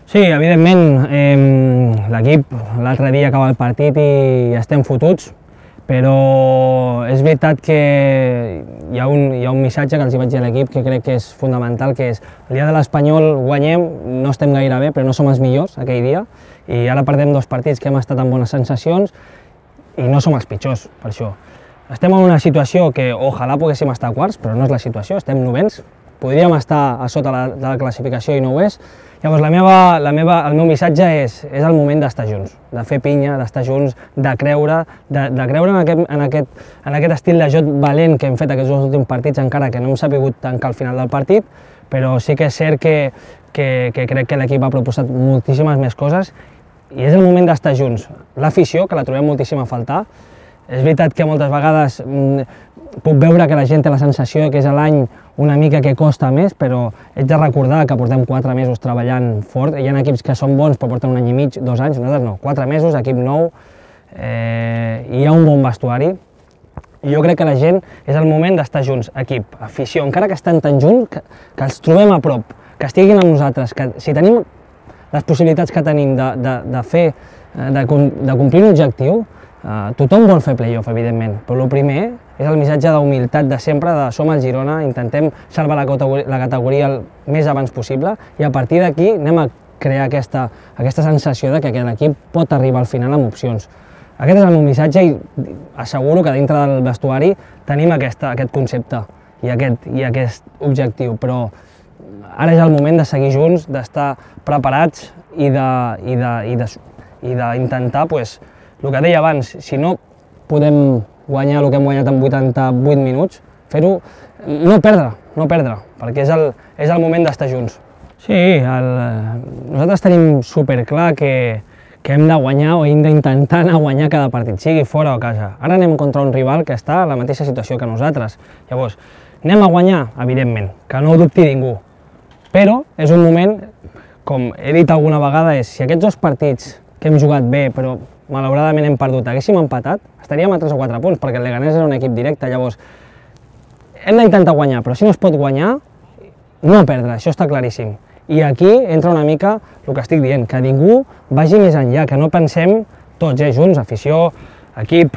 Sí, evidentment, l'equip l'altre dia acaba el partit i estem fotuts, però és veritat que hi ha un missatge que els vaig dir a l'equip que crec que és fonamental, que és el dia de l'Espanyol guanyem, no estem gaire bé, però no som els millors aquell dia, i ara perdem 2 partits que hem estat amb bones sensacions i no som els pitjors, per això. Estem en una situació que ojalà poguéssim estar a quarts, però no és la situació, estem novens, podríem estar a sota de la classificació i no ho és. Llavors el meu missatge és el moment d'estar junts, de fer pinya, d'estar junts, de creure en aquest estil de joc valent que hem fet aquests 2 últims partits, encara que no hem sabut tancar al final del partit, però sí que és cert que crec que l'equip ha proposat moltíssimes més coses i és el moment d'estar junts. L'afició, que la trobem moltíssim a faltar, és veritat que moltes vegades puc veure que la gent té la sensació que és l'any una mica que costa més, però haig de recordar que portem 4 mesos treballant fort. Hi ha equips que són bons però porten 1 any i mig, 2 anys, nosaltres no, 4 mesos, equip nou, hi ha un bon vestuari. I jo crec que la gent és el moment d'estar junts, equip, afició, encara que estan tan junts, que els trobem a prop, que estiguin amb nosaltres, que si tenim les possibilitats que tenim de complir un objectiu, tothom vol fer play-off, evidentment, però el primer és el missatge d'humilitat de sempre, de som el Girona, intentem salvar la categoria el més abans possible i a partir d'aquí anem a crear aquesta sensació de que l'equip pot arribar al final amb opcions. Aquest és el meu missatge i asseguro que dintre del vestuari tenim aquest concepte i aquest objectiu, però ara és el moment de seguir junts, d'estar preparats i d'intentar, el que deia abans, si no podem guanyar el que hem guanyat en 88 minuts, fer-ho, no perdre, perquè és el moment d'estar junts. Sí, nosaltres tenim superclar que hem de guanyar o hem d'intentar anar a guanyar cada partit, sigui fora o a casa. Ara anem contra un rival que està a la mateixa situació que nosaltres. Llavors, anem a guanyar? Evidentment, que no ho dubti ningú. Però és un moment, com he dit alguna vegada, si aquests 2 partits que hem jugat bé, però malauradament hem perdut, haguéssim empatat, estaríem a 3 o 4 punts, perquè el Leganés era un equip directe, llavors hem d'intentar guanyar, però si no es pot guanyar, no perdre, això està claríssim. I aquí entra una mica el que estic dient, que ningú vagi més enllà, que no pensem tots junts, afició, equip,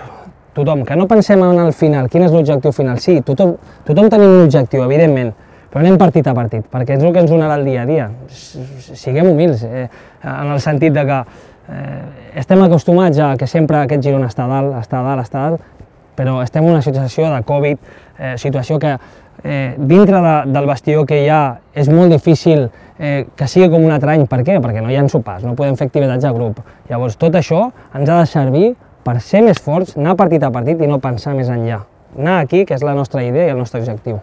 tothom, que no pensem en el final, quin és l'objectiu final. Sí, tothom tenim un objectiu, evidentment, però anem partit a partit, perquè és el que ens donarà el dia a dia. Siguem humils, en el sentit de que estem acostumats a que sempre aquest Girona està a dalt, però estem en una situació de Covid, situació que dintre del vestidor que hi ha és molt difícil que sigui com un altre any. Per què? Perquè no hi ha sopars, no podem fer activitats a grup. Llavors tot això ens ha de servir per ser més forts, anar partit a partit i no pensar més enllà. Anar aquí, que és la nostra idea i el nostre objectiu.